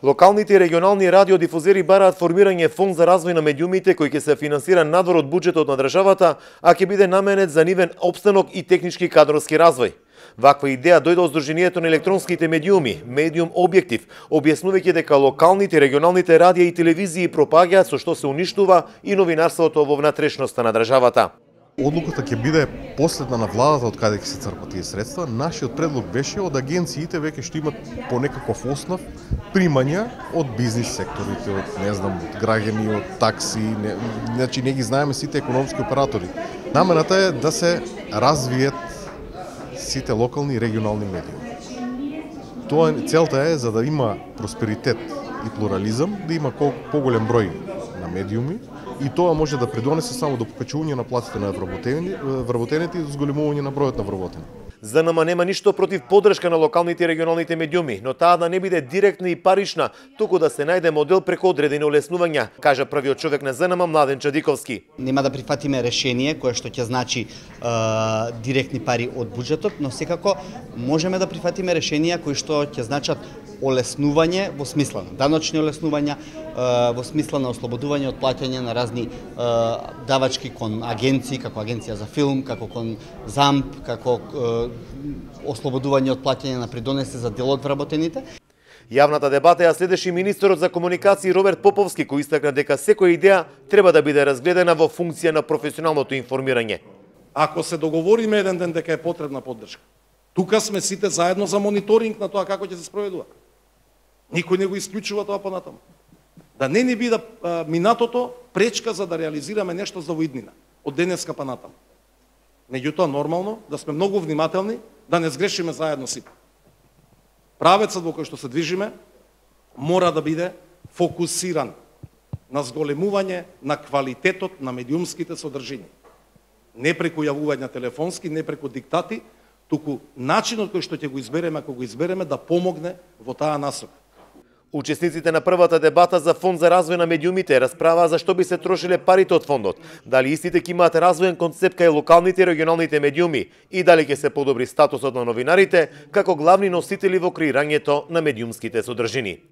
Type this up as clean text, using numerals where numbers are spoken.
Локалните и регионални радиодифузери бараат формирање фонд за развој на медиумите кој ќе се финансира надвор од буџетот на државата, а ќе биде наменет за нивен опстанок и технички кадровски развој. Ваква идеја дојде од Сдруженијето на електронските медиуми, Медиум Објектив, објаснувајќи дека локалните и регионалните радија и телевизии пропагаат со што се уништува и новинарството во внатрешноста на државата. Одлуката ќе биде последна на владата од каде ќе се црпат тие средства. Нашиот предлог беше од агенциите веќе што имат по некаков основ примања од бизнис секторите, од од граѓани, од такси, значи не ги знаеме сите економски оператори. Намената е да се развиет сите локални и регионални медиуми. Целта е за да има просперитет и плурализам, да има поголем број на медиуми, и тоа може да придонесе само до покачување на платите на вработените и до зголемување на бројот на вработени. ЗНМ нема ништо против поддршка на локалните и регионалните медиуми, но таа да не биде директна и парична, туку да се најде модел преку одредени олеснувања, кажа првиот човек на ЗНМ Младен Чадиковски. Нема да прифатиме решение кое што ќе значи директни пари од буџетот, но секако можеме да прифатиме решенија кои што ќе значат олеснување во смисла на даночни олеснувања, во смисла на ослободување од плаќање на разни давачки кон агенции, како Агенција за филм, како кон ЗАМП, како ослободување од плаќање на придонеси за дел од вработените. Јавната дебата ја следеше министерот за комуникации Роберт Поповски, кој истакна дека секоја идеја треба да биде разгледана во функција на професионалното информирање. Ако се договориме еден ден дека е потребна поддршка, тука сме сите заедно за мониторинг на тоа како ќе се спроведува. Никој не го исклучува тоа понатаму. Да не ни биде минатото пречка за да реализираме нешто за воиднина, од денеска па натаму. Меѓутоа, нормално, да сме многу внимателни, да не сгрешиме заедно сите. Правецот во кој што се движиме мора да биде фокусиран на зголемување на квалитетот на медиумските содржини. Не преку јавување телефонски, не преку диктати, туку начинот кој што ќе го избереме, ако го избереме, да помогне во таа насока. Учесниците на првата дебата за фонд за развој на медиумите расправаа за што би се трошиле парите од фондот, дали истите ќе имаат развоен концепт кај локалните и регионалните медиуми и дали ќе се подобри статусот на новинарите како главни носители во креирањето на медиумските содржини.